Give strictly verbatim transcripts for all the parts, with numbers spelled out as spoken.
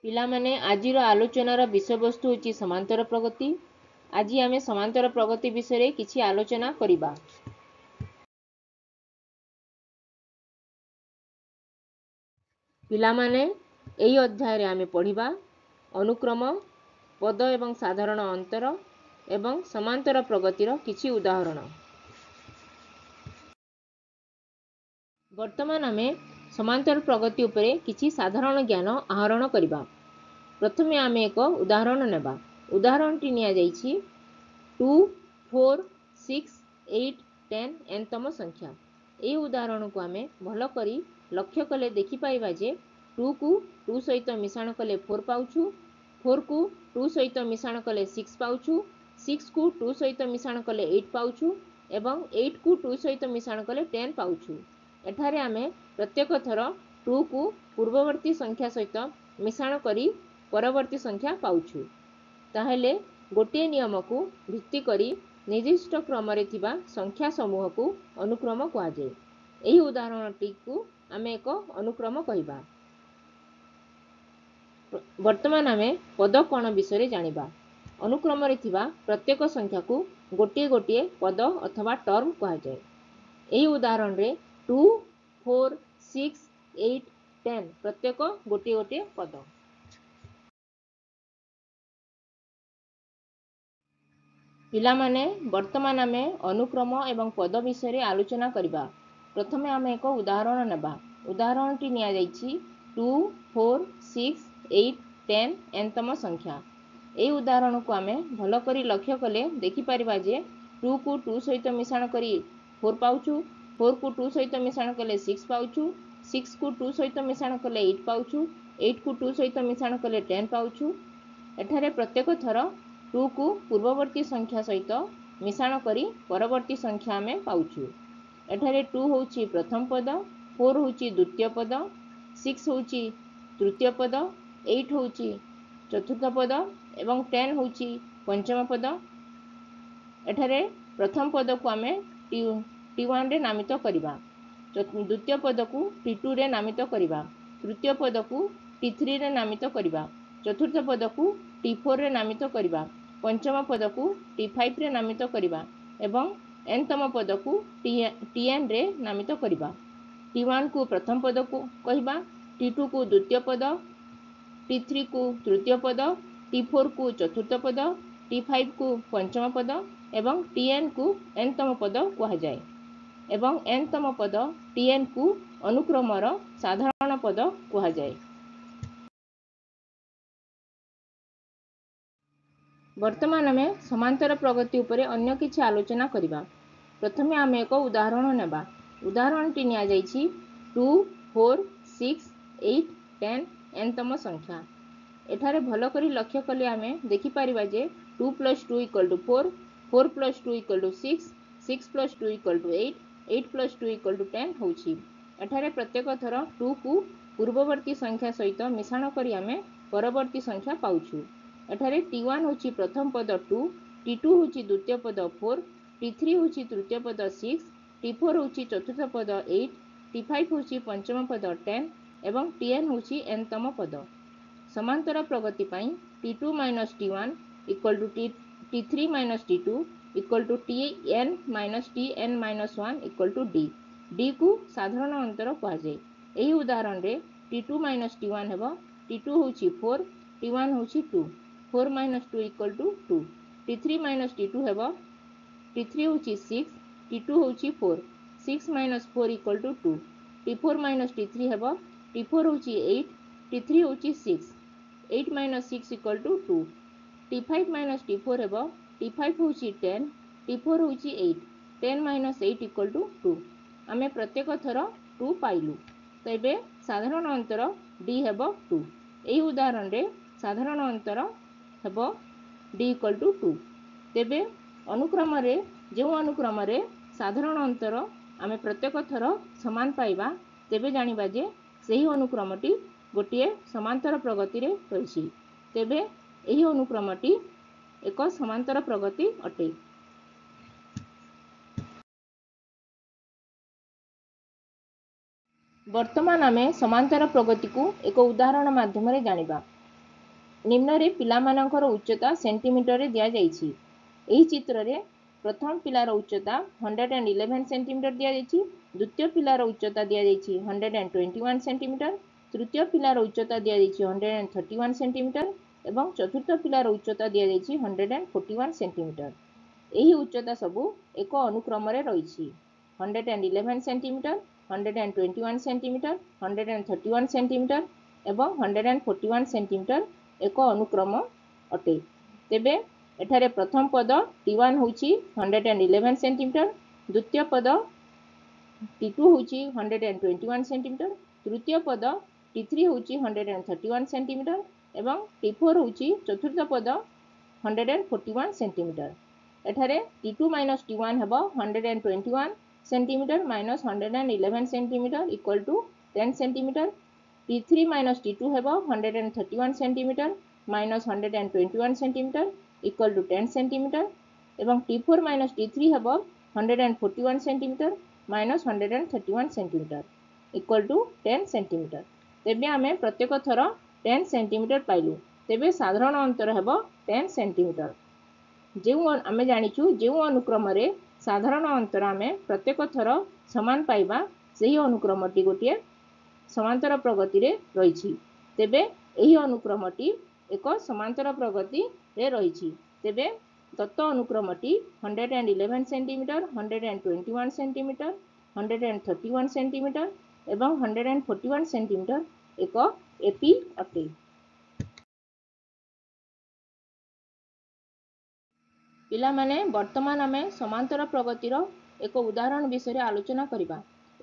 ପିଲାମାନେ, ଆଜିର ଆଲୋଚନାର ବିଷୟବସ୍ତୁ ହେଉଛି ସମାନ୍ତର ପ୍ରଗତି। ଆଜି ଆମେ ସମାନ୍ତର ପ୍ରଗତି ବିଷୟରେ କିଛି ଆଲୋଚନା କରିବା। ପିଲାମାନେ, ଏହି ଅଧ୍ୟାୟରେ ଆମେ ପଢ଼ିବା ଅନୁକ୍ରମ, ପଦ ଏବଂ ସାଧାରଣ ଅନ୍ତର ଏବଂ ସମାନ୍ତର ପ୍ରଗତିର କିଛି ଉଦାହରଣ। ବର୍ତ୍ତମାନ ଆମେ ସମାନ୍ତର ପ୍ରଗତି ଉପରେ କିଛି ସାଧାରଣ ଜ୍ଞାନ ଆହରଣ କରିବା। ପ୍ରଥମେ ଆମେ ଏକ ଉଦାହରଣ ନେବା। ଉଦାହରଣଟି ନିଆଯାଇଛି two, four, six, eight, ten ଏନତମ ସଂଖ୍ୟା। ଏହି ଉଦାହରଣକୁ ଆମେ ଭଲ କରି ଲକ୍ଷ୍ୟ କଲେ ଦେଖିପାରିବା ଯେ ଟୁକୁ ଟୁ ସହିତ ମିଶାଣ କଲେ ଫୋର୍ ପାଉଛୁ, ଫୋର୍କୁ ଟୁ ସହିତ ମିଶାଣ କଲେ ସିକ୍ସ ପାଉଛୁ, ସିକ୍ସକୁ ଟୁ ସହିତ ମିଶାଣ କଲେ ଏଇଟ୍ ପାଉଛୁ ଏବଂ ଏଇଟ୍କୁ ଟୁ ସହିତ ମିଶାଣ କଲେ ଟେନ୍ ପାଉଛୁ। ଏଠାରେ ଆମେ ପ୍ରତ୍ୟେକ ଥର ଟୁକୁ ପୂର୍ବବର୍ତ୍ତୀ ସଂଖ୍ୟା ସହିତ ମିଶାଣ କରି ପରବର୍ତ୍ତୀ ସଂଖ୍ୟା ପାଉଛୁ। ତାହେଲେ ଗୋଟିଏ ନିୟମକୁ ଭିତ୍ତି କରି ନିର୍ଦ୍ଦିଷ୍ଟ କ୍ରମରେ ଥିବା ସଂଖ୍ୟା ସମୂହକୁ ଅନୁକ୍ରମ କୁହାଯାଏ। ଏହି ଉଦାହରଣଟିକୁ ଆମେ ଏକ ଅନୁକ୍ରମ କହିବା। ବର୍ତ୍ତମାନ ଆମେ ପଦ କ'ଣ ବିଷୟରେ ଜାଣିବା। ଅନୁକ୍ରମରେ ଥିବା ପ୍ରତ୍ୟେକ ସଂଖ୍ୟାକୁ ଗୋଟିଏ ଗୋଟିଏ ପଦ ଅଥବା ଟର୍ମ କୁହାଯାଏ। ଏହି ଉଦାହରଣରେ two, four, six, eight, ten ପ୍ରତ୍ୟେକ ଗୋଟିଏ ଗୋଟିଏ ପଦ। ପିଲାମାନେ, ବର୍ତ୍ତମାନ ଆମେ ଅନୁକ୍ରମ ଏବଂ ପଦ ବିଷୟରେ ଆଲୋଚନା କରିବା। ପ୍ରଥମେ ଆମେ ଏକ ଉଦାହରଣ ନେବା। ଉଦାହରଣଟି ନିଆଯାଇଛି two, four, six, eight, ten ଏନତମ ସଂଖ୍ୟା। ଏହି ଉଦାହରଣକୁ ଆମେ ଭଲ କରି ଲକ୍ଷ୍ୟ କଲେ ଦେଖିପାରିବା ଯେ ଟୁକୁ ଟୁ ସହିତ ମିଶାଣ କରି ଫୋର୍ ପାଉଛୁ, ଫୋର୍କୁ ଟୁ ସହିତ ମିଶାଣ କଲେ ସିକ୍ସ ପାଉଛୁ, ସିକ୍ସକୁ ଟୁ ସହିତ ମିଶାଣ କଲେ ଏଇଟ୍ ପାଉଛୁ, ଏଇଟ୍କୁ ଟୁ ସହିତ ମିଶାଣ କଲେ ଟେନ୍ ପାଉଛୁ। ଏଠାରେ ପ୍ରତ୍ୟେକ ଥର ଟୁକୁ ପୂର୍ବବର୍ତ୍ତୀ ସଂଖ୍ୟା ସହିତ ମିଶାଣ କରି ପରବର୍ତ୍ତୀ ସଂଖ୍ୟା ଆମେ ପାଉଛୁ। ଏଠାରେ ଟୁ ହେଉଛି ପ୍ରଥମ ପଦ, ଫୋର୍ ହେଉଛି ଦ୍ୱିତୀୟ ପଦ, ସିକ୍ସ ହେଉଛି ତୃତୀୟ ପଦ, ଏଇଟ୍ ହେଉଛି ଚତୁର୍ଥ ପଦ ଏବଂ ଟେନ୍ ହେଉଛି ପଞ୍ଚମ ପଦ। ଏଠାରେ ପ୍ରଥମ ପଦକୁ ଆମେ ଟି ଟି ୱାନ୍ରେ ନାମିତ କରିବା, ଦ୍ୱିତୀୟ ପଦକୁ ଟି ଟୁରେ ନାମିତ କରିବା, ତୃତୀୟ ପଦକୁ ଟି ଥ୍ରୀରେ ନାମିତ କରିବା, ଚତୁର୍ଥ ପଦକୁ ଟି ଫୋର୍ରେ ନାମିତ କରିବା, ପଞ୍ଚମ ପଦକୁ ଟି ଫାଇଭ୍ରେ ନାମିତ କରିବା ଏବଂ ଏନତମ ପଦକୁ ଟି ଟି ଏନ୍ରେ ନାମିତ କରିବା। ଟି ୱାନ୍କୁ ପ୍ରଥମ ପଦକୁ କହିବା, ଟି ଟୁକୁ ଦ୍ୱିତୀୟ ପଦ, ଟି ଥ୍ରୀକୁ ତୃତୀୟ ପଦ, ଟି ଫୋର୍କୁ ଚତୁର୍ଥ ପଦ, ଟି ଫାଇଭ୍କୁ ପଞ୍ଚମ ପଦ ଏବଂ ଟି ଏନ୍କୁ ଏନତମ ପଦ କୁହାଯାଏ ଏବଂ ଏନତମ ପଦ ଟି ଏନ୍କୁ ଅନୁକ୍ରମର ସାଧାରଣ ପଦ କୁହାଯାଏ। ବର୍ତ୍ତମାନ ଆମେ ସମାନ୍ତର ପ୍ରଗତି ଉପରେ ଅନ୍ୟ କିଛି ଆଲୋଚନା କରିବା। ପ୍ରଥମେ ଆମେ ଏକ ଉଦାହରଣ ନେବା। ଉଦାହରଣଟି ନିଆଯାଇଛି two, four, six, eight, ten ଏନତମ ସଂଖ୍ୟା। ଏଠାରେ ଭଲ କରି ଲକ୍ଷ୍ୟ କଲେ ଆମେ ଦେଖିପାରିବା ଯେ two plus two equal to four, four plus two equal to six, six plus two equal to eight, eight plus two equal to ten ହେଉଛି। ଏଠାରେ ପ୍ରତ୍ୟେକ ଥର ଟୁକୁ ପୂର୍ବବର୍ତ୍ତୀ ସଂଖ୍ୟା ସହିତ ମିଶାଣ କରି ଆମେ ପରବର୍ତ୍ତୀ ସଂଖ୍ୟା ପାଉଛୁ। ଏଠାରେ ଟି ୱାନ୍ ହେଉଛି ପ୍ରଥମ ପଦ ଟୁ, ଟି ଟୁ ହେଉଛି ଦ୍ୱିତୀୟ ପଦ ଫୋର୍, ଟି ଥ୍ରୀ ହେଉଛି ତୃତୀୟ ପଦ ସିକ୍ସ, ଟି ଫୋର୍ ହେଉଛି ଚତୁର୍ଥ ପଦ ଏଇଟ୍, ଟି ଫାଇଭ୍ ହେଉଛି ପଞ୍ଚମ ପଦ ଟେନ୍ ଏବଂ ଟି ଏନ୍ ହେଉଛି ଏନତମ ପଦ। ସମାନ୍ତର ପ୍ରଗତି ପାଇଁ T two minus T one equal to T T three minus T two equal to T N minus T N minus one equal to D. ଡିକୁ ସାଧାରଣ ଅନ୍ତର କୁହାଯାଏ। ଏହି ଉଦାହରଣରେ T two minus T one ହେବ, ଟି two ହେଉଛି four, ଟି one ହେଉଛି two, four minus two equal to two. T three minus T two ହେବ, ଟି three ହେଉଛି six, ଟି two ହେଉଛି four, six minus four equal to two. T four minus T three ହେବ, T four ହେଉଛି eight, ଟି three ହେଉଛି six, eight minus six equal to two. T five minus T four ହେବ, T five ହେଉଛି ten, T four ହେଉଛି eight, ten minus eight equal to two. ଆମେ ପ୍ରତ୍ୟେକ ଥର two ପାଇଲୁ। ତେବେ ସାଧାରଣ ଅନ୍ତର ଡି ହେବ ଟୁ। ଏହି ଉଦାହରଣରେ ସାଧାରଣ ଅନ୍ତର ହେବ ଡି ଇକ୍ୱାଲ୍ ଟୁ ଟୁ। ତେବେ ଅନୁକ୍ରମରେ ଯେଉଁ ଅନୁକ୍ରମରେ ସାଧାରଣ ଅନ୍ତର ଆମେ ପ୍ରତ୍ୟେକ ଥର ସମାନ ପାଇବା, ତେବେ ଜାଣିବା ଯେ ସେହି ଅନୁକ୍ରମଟି ଗୋଟିଏ ସମାନ୍ତର ପ୍ରଗତିରେ ରହିଛି। ତେବେ ଏହି ଅନୁକ୍ରମଟି ଏକ ସମାନ୍ତର ପ୍ରଗତି ଅଟେ। ବର୍ତ୍ତମାନ ଆମେ ସମାନ୍ତର ପ୍ରଗତିକୁ ଏକ ଉଦାହରଣ ମାଧ୍ୟମରେ ଜାଣିବା। ନିମ୍ନରେ ପିଲାମାନଙ୍କର ଉଚ୍ଚତା ସେଣ୍ଟିମିଟରରେ ଦିଆଯାଇଛି। ଏହି ଚିତ୍ରରେ ପ୍ରଥମ ପିଲାର ଉଚ୍ଚତା ହଣ୍ଡ୍ରେଡ଼ ଆଣ୍ଡ ଇଲେଭେନ୍ ସେଣ୍ଟିମିଟର ଦିଆଯାଇଛି, ଦ୍ୱିତୀୟ ପିଲାର ଉଚ୍ଚତା ଦିଆଯାଇଛି hundred and twenty one centimetre, ତୃତୀୟ ପିଲାର ଉଚ୍ଚତା ଦିଆଯାଇଛି hundred and thirty one centimetre ଏବଂ ଚତୁର୍ଥ ପିଲାର ଉଚ୍ଚତା ଦିଆଯାଇଛି hundred and forty one centimetre. ଏହି ଉଚ୍ଚତା ସବୁ ଏକ ଅନୁକ୍ରମରେ ରହିଛି। Hundred and eleven centimetre, hundred and twenty one centimetre, hundred and thirty one centimetre ଏବଂ hundred and forty one centimetre ଏକ ଅନୁକ୍ରମ ଅଟେ। ତେବେ ଏଠାରେ ପ୍ରଥମ ପଦ ଟି ୱାନ୍ ହେଉଛି ହଣ୍ଡ୍ରେଡ଼ ଆଣ୍ଡ ଇଲେଭେନ୍ ସେଣ୍ଟିମିଟର, ଦ୍ୱିତୀୟ ପଦ ଟି ଟୁ ହେଉଛି hundred and twenty one centimetre, ତୃତୀୟ ପଦ ଟି ଥ୍ରୀ ହେଉଛି hundred and thirty one centimetre ଏବଂ ଟି ଫୋର୍ ହେଉଛି ଚତୁର୍ଥ ପଦ hundred and forty one centimetre. ଏଠାରେ T two minus T one ହେବ hundred and twenty one centimetre minus hundred and eleven centimetre equal to ten centimetre. T three minus T two ହେବ hundred and thirty one centimetre minus hundred and twenty one centimetre equal to ten centimetre ଏବଂ T four minus T three ହେବ hundred and forty one centimetre minus hundred and thirty one centimetre equal to ten centimetre. ତେବେ ଆମେ ପ୍ରତ୍ୟେକ ଥର ten centimetre ପାଇଲୁ। ତେବେ ସାଧାରଣ ଅନ୍ତର ହେବ ଟେନ୍ ସେଣ୍ଟିମିଟର। ଯେଉଁ ଆମେ ଜାଣିଛୁ, ଯେଉଁ ଅନୁକ୍ରମରେ ସାଧାରଣ ଅନ୍ତର ଆମେ ପ୍ରତ୍ୟେକ ଥର ସମାନ ପାଇବା, ସେହି ଅନୁକ୍ରମଟି ଗୋଟିଏ ସମାନ୍ତର ପ୍ରଗତିରେ ରହିଛି। ତେବେ ଏହି ଅନୁକ୍ରମଟି ଏକ ସମାନ୍ତର ପ୍ରଗତିରେ ରହିଛି। ତେବେ Dutt ଅନୁକ୍ରମଟି hundred and eleven centimetre, hundred and twenty one centimetre, hundred and thirty one centimetre ଏବଂ hundred and forty one centimetre ଏକ ଏପି ଅଟେ। ପିଲାମାନେ, ବର୍ତ୍ତମାନ ଆମେ ସମାନ୍ତର ପ୍ରଗତିର ଏକ ଉଦାହରଣ ବିଷୟରେ ଆଲୋଚନା କରିବା।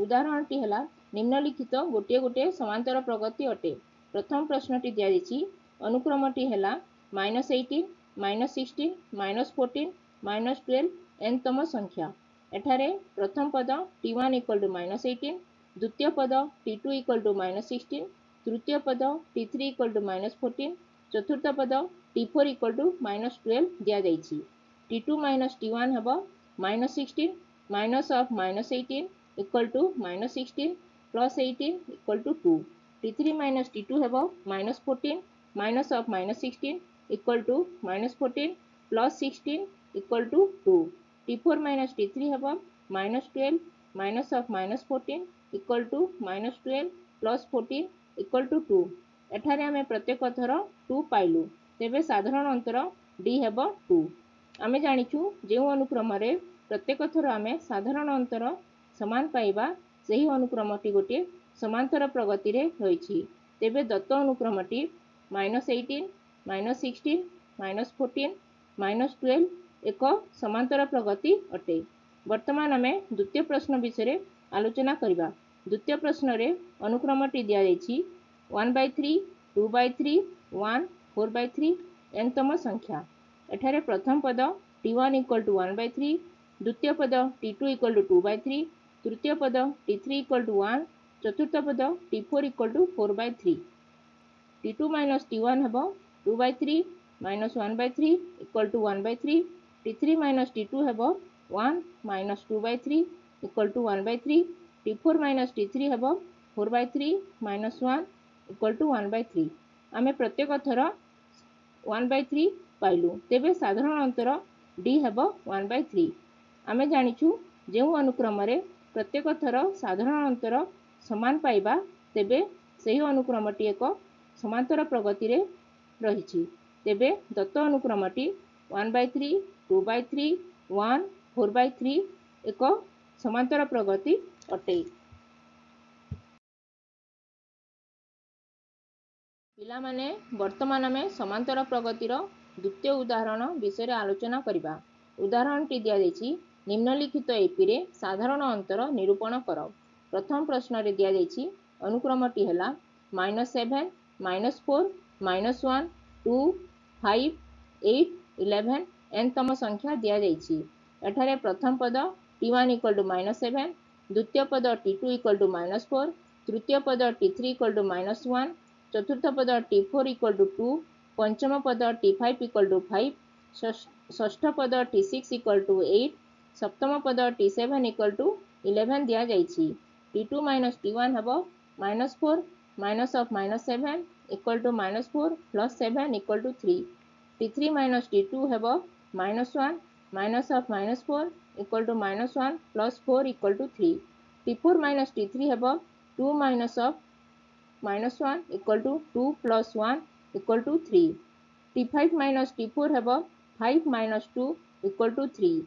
ଉଦାହରଣଟି ହେଲା, ନିମ୍ନଲିଖିତ ଗୋଟିଏ ଗୋଟିଏ ସମାନ୍ତର ପ୍ରଗତି ଅଟେ। ପ୍ରଥମ ପ୍ରଶ୍ନଟି ଦିଆଯାଇଛି, ଅନୁକ୍ରମଟି ହେଲା minus eighteen, minus sixteen, minus fourteen, minus twelve, ଏନ୍ତମ ସଂଖ୍ୟା। ଏଠାରେ ପ୍ରଥମ ପଦ T one equal to minus eighteen, ଦ୍ୱିତୀୟ ପଦ T two equal to minus sixteen, ତୃତୀୟ ପଦ T three equal to minus fourteen, ଚତୁର୍ଥ ପଦ T four equal to minus twelve ଦିଆଯାଇଛି। T two minus T one ହେବ minus sixteen minus of minus eighteen equal to minus sixteen plus eighteen equal to two. T three minus T two ହେବ minus fourteen minus of minus sixteen equal to minus fourteen plus sixteen equal to two. T four minus T three ହେବ minus twelve minus of minus fourteen equal to minus twelve plus fourteen equal to two. ଏଠାରେ ଆମେ ପ୍ରତ୍ୟେକ ଥର two ପାଇଲୁ। ତେବେ ସାଧାରଣ ଅନ୍ତର D ହେବ ଟୁ। ଆମେ ଜାଣିଛୁ, ଯେଉଁ ଅନୁକ୍ରମରେ ପ୍ରତ୍ୟେକ ଥର ଆମେ ସାଧାରଣ ଅନ୍ତର ସମାନ ପାଇବା, ସେହି ଅନୁକ୍ରମଟି ଗୋଟିଏ ସମାନ୍ତର ପ୍ରଗତିରେ ରହିଛି। ତେବେ Dutt ଅନୁକ୍ରମଟି minus eighteen, minus sixteen, minus fourteen, minus twelve ଏକ ସମାନ୍ତର ପ୍ରଗତି ଅଟେ। ବର୍ତ୍ତମାନ ଆମେ ଦ୍ୱିତୀୟ ପ୍ରଶ୍ନ ବିଷୟରେ ଆଲୋଚନା କରିବା। ଦ୍ୱିତୀୟ ପ୍ରଶ୍ନରେ ଅନୁକ୍ରମଟି ଦିଆଯାଇଛି one by three, two by three, one, four by three, ଏନ୍ତମ ସଂଖ୍ୟା। ଏଠାରେ ପ୍ରଥମ ପଦ T one equal to one by three, ଦ୍ୱିତୀୟ ପଦ T two equal to two by three, ତୃତୀୟ ପଦ ଟି ଥ୍ରୀ ଇକ୍ୱାଲ୍ ଟୁ ୱାନ୍, ଚତୁର୍ଥ ପଦ T four equal to four by three. T two minus T one ହେବ two by three minus one by three equal to one by three. T three minus T two ହେବ one minus two by three equal to one by three. T four minus T three ହେବ four by three minus one equal to one by three. ଆମେ ପ୍ରତ୍ୟେକ ଥର one by three ପାଇଲୁ। ତେବେ ସାଧାରଣ ଅନ୍ତର D ହେବ ୱାନ୍ ବାଇ ଥ୍ରୀ। ଆମେ ଜାଣିଛୁ, ଯେଉଁ ଅନୁକ୍ରମରେ ପ୍ରତ୍ୟେକ ଥର ସାଧାରଣ ଅନ୍ତର ସମାନ ପାଇବା, ତେବେ ସେହି ଅନୁକ୍ରମଟି ଏକ ସମାନ୍ତର ପ୍ରଗତିରେ ରହିଛି। ତେବେ Dutt ଅନୁକ୍ରମଟି one by three, two by three, one, four by three ଏକ ସମାନ୍ତର ପ୍ରଗତି ଅଟେ। ପିଲାମାନେ, ବର୍ତ୍ତମାନ ଆମେ ସମାନ୍ତର ପ୍ରଗତିର ଦ୍ୱିତୀୟ ଉଦାହରଣ ବିଷୟରେ ଆଲୋଚନା କରିବା। ଉଦାହରଣଟି ଦିଆଯାଇଛି, ନିମ୍ନଲିଖିତ ଏପିରେ ସାଧାରଣ ଅନ୍ତର ନିରୂପଣ କର। ପ୍ରଥମ ପ୍ରଶ୍ନରେ ଦିଆଯାଇଛି, ଅନୁକ୍ରମଟି ହେଲା minus seven, minus four, minus one, two, five, eight, eleven, ଏନ୍ତମ ସଂଖ୍ୟା ଦିଆଯାଇଛି। ଏଠାରେ ପ୍ରଥମ ପଦ T one equal to minus seven, ଦ୍ୱିତୀୟ ପଦ T two equal to minus four, ତୃତୀୟ ପଦ T three equal to minus one, ଚତୁର୍ଥ ପଦ T four equal to two, ପଞ୍ଚମ ପଦ T five equal to five, ଷଷ୍ଠ ପଦ T six equal to eight, ସପ୍ତମ ପଦ ଟି ସେଭେନ୍ ଇକ୍ୱାଲ୍ ଟୁ ଇଲେଭେନ୍ ଦିଆଯାଇଛି। ଟି ଟୁ ମାଇନସ୍ ଟି ୱାନ୍ ହେବ minus four minus of minus seven equal to minus four plus seven equal to three. T three minus T two ହେବ minus one minus of minus four equal to minus one plus four equal to three. T four minus T three ହେବ two minus of minus one equal to two plus one equal to three. T five minus T four ହେବ five minus two equal to three.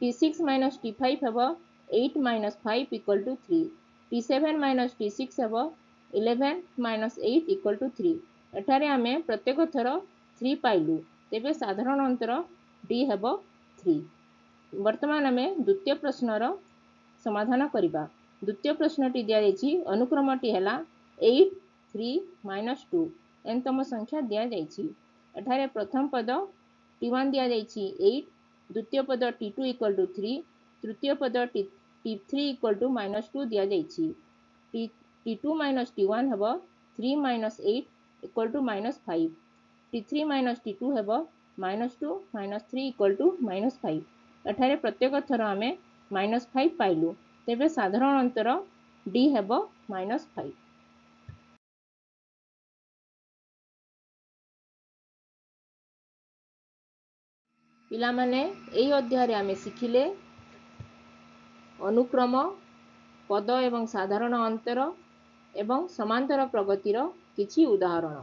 T six minus T five ହେବ eight minus five equal to three. T seven minus T six ହେବ eleven minus eight equal to three. ଏଠାରେ ଆମେ ପ୍ରତ୍ୟେକ ଥର three ପାଇଲୁ, ତେବେ ସାଧାରଣ ଅନ୍ତର ଡି ହେବ ଥ୍ରୀ। ବର୍ତ୍ତମାନ ଆମେ ଦ୍ୱିତୀୟ ପ୍ରଶ୍ନର ସମାଧାନ କରିବା। ଦ୍ୱିତୀୟ ପ୍ରଶ୍ନଟି ଦିଆଯାଇଛି, ଅନୁକ୍ରମଟି ହେଲା ଏଇଟ୍ ଥ୍ରୀ ମାଇନସ୍ ଟୁ, ଏନତମ ସଂଖ୍ୟା ଦିଆଯାଇଛି। ଏଠାରେ ପ୍ରଥମ ପଦ ଟି ୱାନ୍ ଦିଆଯାଇଛି ଏଇଟ୍, ଦ୍ୱିତୀୟ ପଦ T two equal to three, ତୃତୀୟ ପଦ T T three equal to minus two ଦିଆଯାଇଛି। T T two minus T one ହେବ three minus eight equal to minus five. T three minus T two ହେବ minus two minus three equal to minus five. ଏଠାରେ ପ୍ରତ୍ୟେକ ଥର ଆମେ minus five ପାଇଲୁ, ତେବେ ସାଧାରଣ ଅନ୍ତର ଡି ହେବ ମାଇନସ୍ ଫାଇଭ୍। ପିଲାମାନେ, ଏହି ଅଧ୍ୟାୟରେ ଆମେ ଶିଖିଲେ ଅନୁକ୍ରମ, ପଦ ଏବଂ ସାଧାରଣ ଅନ୍ତର ଏବଂ ସମାନ୍ତର ପ୍ରଗତିର କିଛି ଉଦାହରଣ।